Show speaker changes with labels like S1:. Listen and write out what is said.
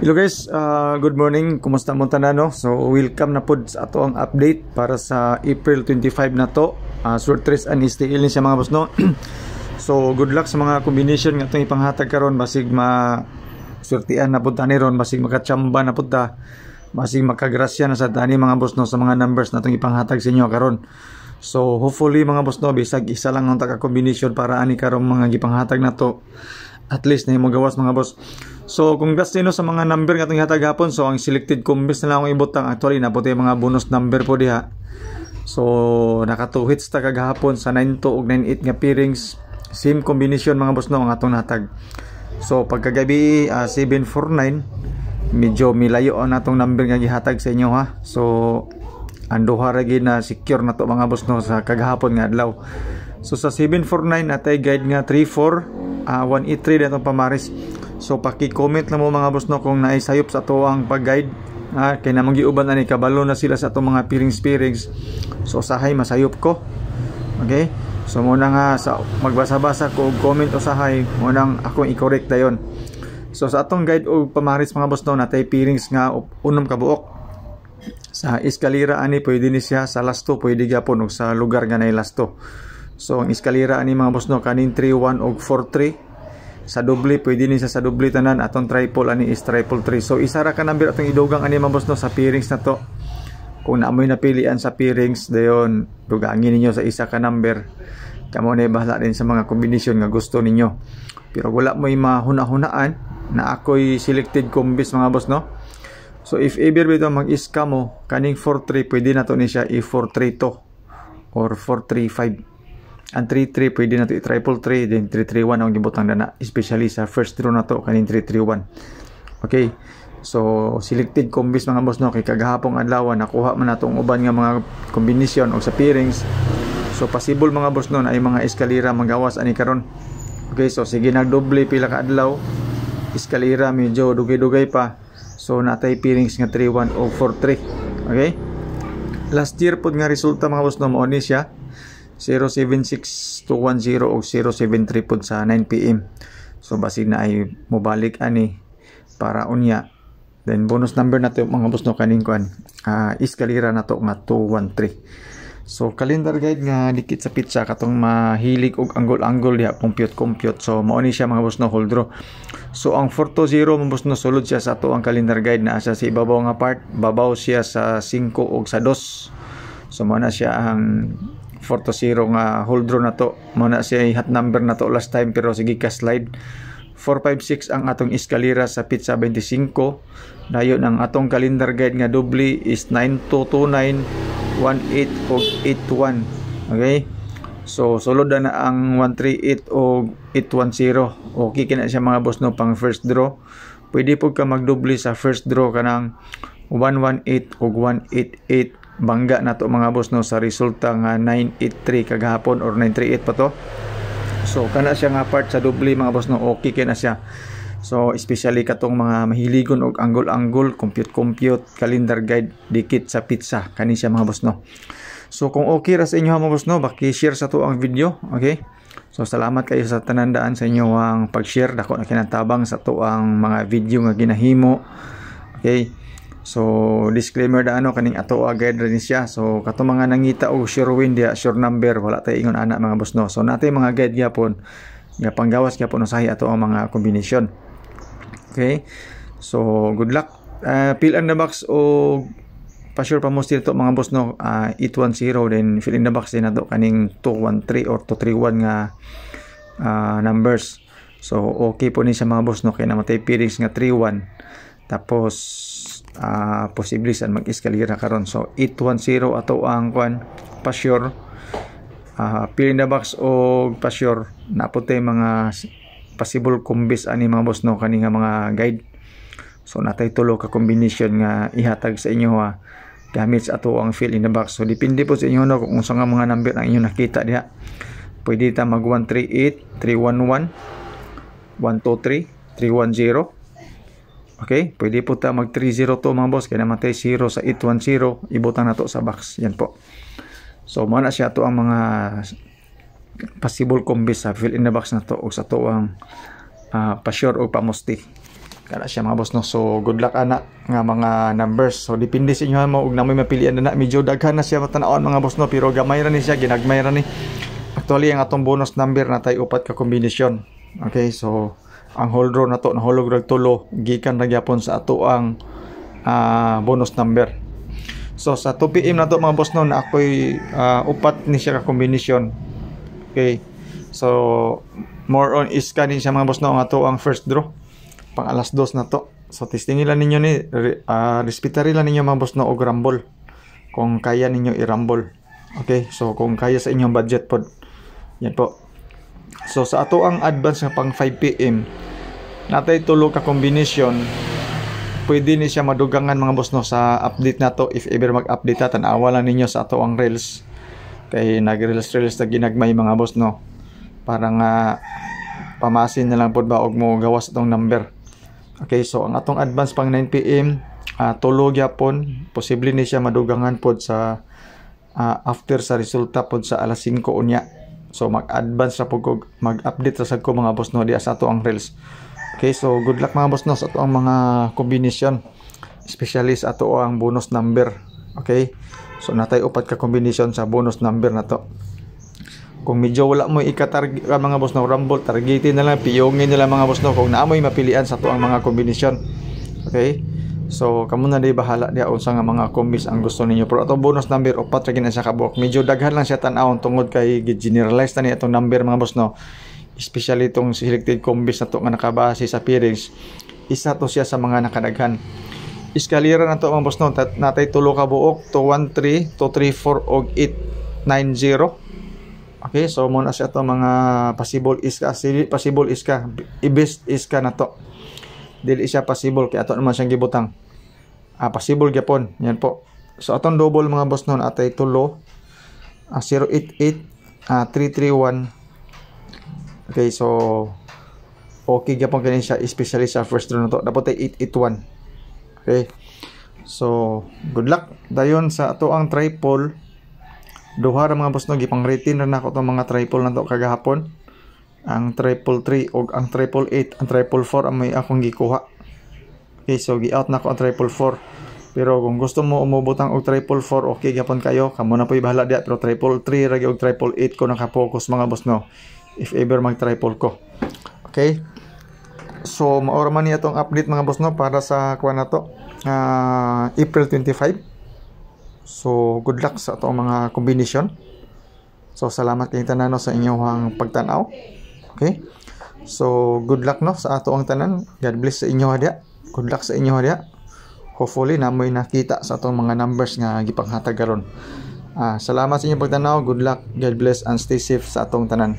S1: Hello guys, good morning. Kumusta mo tanan, no? So welcome na pod sa ato ang update para sa April 25 na to. Surtres and STL ni siya, mga boss, no. So good luck sa mga combination nga atong ipanghatag karon, basig ma surtian na pud ta ni ron, basig makachamba na pud ta, basig makagrasya na sa tani, mga boss, no, sa mga numbers na atong ipanghatag sa inyo karon. So hopefully, mga boss, no, bisag isa lang ang taka combination para ani karong mga gipanghatag na to, at least na gawas, mga boss. So congrats din, no, sa mga number nga atong ihatag hapon. So ang selected combis na lang akong ibutang. Actually, naa pod mga bonus number po diha. So naka 2 hits ta kagahapon sa 92 ug 98 nga pairings. Same combination, mga boss, no, ang atong natag. So pagkagabi, 749, medyo milayo ang atong number nga gihatag sa inyo, ha. So ang duha ra gyud na secure na to, mga boss, no, sa kagahapon nga adlaw. So sa 749 atay guide nga 34 183 datong pamaris. So paki-comment lang mo, mga boss, no, kung naay sayop sa ato ang pag-guide. Ah, kay namang giuban ani kabalo na sila sa atong mga pairings pairings. So usahay masayop ko. Okay? So muna nga sa magbasa-basa ko og comment usahay, mo nang akong i-correct dayon. So sa atong guide og pamaris, mga boss, no, natay pairings nga unom ka buok. Sa eskalera ani pwede ni siya, sa lasto pwede gyapon og sa lugar nga nay lasto. So ang eskalera ani, mga boss, no, kaning 3-1 og 4-3. Sa doble pwede ni siya, sa doble tanan. Atong triple ani is triple 3. So isa ra ka number atong idugang ani, mga boss, no, sa pairings na to. Kung naamoy napilian sa pairings dayon, dugangin ninyo sa isa ka number. Kamo na bahala din sa mga kombinasyon nga gusto ninyo. Pero wala mo'y mahuna-hunaan na ako'y selected combis, mga boss, no. So if ever bitaw mag-iska mo kaning 4-3, pwede na to ni siya i 4-3-2 or 4-3-5. Ang 3-3 pwede na to i-triple 3, then 3-3-1 ang gibutang na, especially sa first draw na to kaning 3-3-1. Okay. So selected combis, mga boss, no, kay kagahapong adlaw nakuha man natong uban nga mga kombinasyon o sa pairings. So possible, mga boss, no, na ay mga eskalera magawas ani karon. Okay, so sige nagdoble pila ka adlaw. Eskalera medyo dugay-dugay pa. So natay pairings nga 3-1 o 4-3. Okay? Last year pod nga resulta, mga boss, no, mao ni siya. 076210 o 073 pod sa 9 PM. So basig na ay mobalik ani para unya. Then bonus number na to, mga boss, no, kaning kuan. Eskalera na to nga 213. So calendar guide nga dikit sa pitsa, katong mahilig og anggol-anggol diha, compute compute. So mao ni siya, mga boss, no, whole draw. So ang 420, mga boss, no, sulod siya sa ato ang calendar guide na asa sa ibabaw nga part, babaw siya sa 5 ug sa 2. So mao na siya ang 4-0 nga whole draw na to. Mao na siya hot number na to last time, pero sige ka slide. 456 ang atong eskalera sa pizza 25. Dayon ang atong calendar guide nga doble is 9229 18 og 81. Okay? So sulod na ang 138 og 810. Okay kina siya, mga boss, no, pang first draw. Pwede po ka magdoble sa first draw kanang 118 og 188, bangga na to, mga boss, no, sa resulta nga 983 kagahapon or 938 pa to. So kana siya nga part sa doble, mga boss, no, okay kay na siya. So especially katong mga mahiligon og anggol-anggol, compute compute, calendar guide dikit sa pizza kani siya, mga boss, no. So kung okay ra sa inyo, mga boss, no, baki-share sa to ang video, okay? So salamat kayo sa tanandaan sa inyo ang pag-share, dako na kinatabang sa to ang mga video nga ginahimo. Okay? So disclaimer da ano, kaning ato guide rin siya. So kato mga nangita og sure win diha, sure number, wala tay ingon ana, mga boss, no. So natay mga guide gyapon nga panggawas gyapon usahay ato ang mga combination. Okay? So good luck. Fill in the box o pa-sure pa mo to, mga boss, no, 810, then fill in the box din nato kaning 213 or 231 nga numbers. So okay po ni siya, mga boss, no, kay namatay pairings nga 31, tapos posible san mag-eskalera karon. So 810 ato ang kwan pa-sure, fill in the box o pa-sure na po mga possible combis ani, mga boss, no, kani nga mga guide. So natay tulo ka combination nga ihatag sa inyo ha, gamit sa ato ang fill in the box. So depende po sa inyo, no, kung unsa nga mga number ang inyo nakita diha. Pwede ta mag 138, 311, 123, 310. Okay, pwede po ta mag 302, mga boss, kaya namatay 0 sa 810, ibutang na to sa box. Yan po. So mao na siya to ang mga possible combis sa fill in the box na to o sa to ang pa-sure o pamusti. Kana siya, mga boss, no. So good luck ana nga mga numbers. So depende sa inyo mo ug namoy mapilian na. Medyo daghan na siya matanawon, mga boss, no, pero gamay ra ni siya, ginagmay ra ni. Actually, ang atong bonus number na tay upat ka kombinasyon. Okay, so ang whole draw na to nahulog rag tulo gikan ra gyapon sa ato ang bonus number. So sa 2 PM na to, mga boss, no, na ako'y upat ni siya ka kombinasyon. Okay. So more on iska ni siya, mga boss, no, ang ato ang first draw pang alas 2 na to. So testingin lang ninyo ni, respetari lang ninyo, mga boss, no, og rumble. Kung kaya ninyo i-rumble. Okay, so kung kaya sa inyong budget pod. Yan po. So sa ato ang advance nga pang 5 PM, natay tulo ka combination. Pwede ni siya madugangan, mga boss, no, sa update na to if ever mag-update ta. Tan-awa lang ninyo sa ato ang reels kay nag-reels reels na ginagmay, mga boss, no, para nga pamasin na lang pod ba og mo gawas atong number. Okay, so ang atong advance pang 9 PM, tulo gyapon. Posible ni siya madugangan pod sa after sa resulta pod sa alas 5 unya. So mag-advance ra pod ko, mag-update ra sad ko, mga boss, no, diya sa ato ang reels. Okay, so good luck, mga boss, no, sa ato ang mga combination, especially sa ato ang bonus number. Okay? So natay upat ka combination sa bonus number na to. Kung medyo wala mo ikatarget, mga boss, no, rumble, targetin na lang, piyongin na lang, mga boss, no, kung naamoy mapilian sa ato ang mga combination. Okay? So kamo na di bahala diya unsa nga mga combis ang gusto ninyo. Pero ato bonus number, upat ra gid na siya kabuok. Medyo daghan lang siya tan-awon tungod kay gi-generalize na ni atong number, mga boss, no. Especially itong selected combis na to nga nakabase sa pairings. Isa to siya sa mga nakadaghan. Eskalera na to, mga boss, no. Natay tulo ka buok: 213, 234 og 890. Okay, so muna siya to mga possible iska, possible iska, i-best iska na to. Dili siya possible kay ato naman siyang gibutang. Ah, possible gyapon. Yan po. So atong double, mga boss, nun atay tulo, 088, 331. Okay, so okay gyapon kini siya, especially sa first draw na to. Dapat ay 881. Okay. So, good luck. Dayon sa ato ang triple, duha ra, mga boss, no, gipang rating ra nako tong mga triple na to kagahapon. Ang 333 og ang 888, ang 444 ang may akong gikuha. Okay, so gi-out na ko ang 444. Pero kung gusto mo umubutang og 444, okay gyapon kayo. Kamo na po'y bahala diya, pero 333 ra og 888 ko naka-focus, mga boss, no. If ever mag triple ko. Okay? So mao ra man ni atong update, mga boss, no, para sa kuan na to. April 25. So good luck sa atong mga combination. So salamat kay tanan, no, sa inyong pagtan-aw. Okay? So good luck, no, sa ato ang tanan. God bless sa inyo diya. Good luck sa inyo diya. Hopefully namoy nakita sa atong mga numbers nga gipanghatag karon. Salamat sa inyong pagtanaw. Good luck. God bless and stay safe sa atong tanan.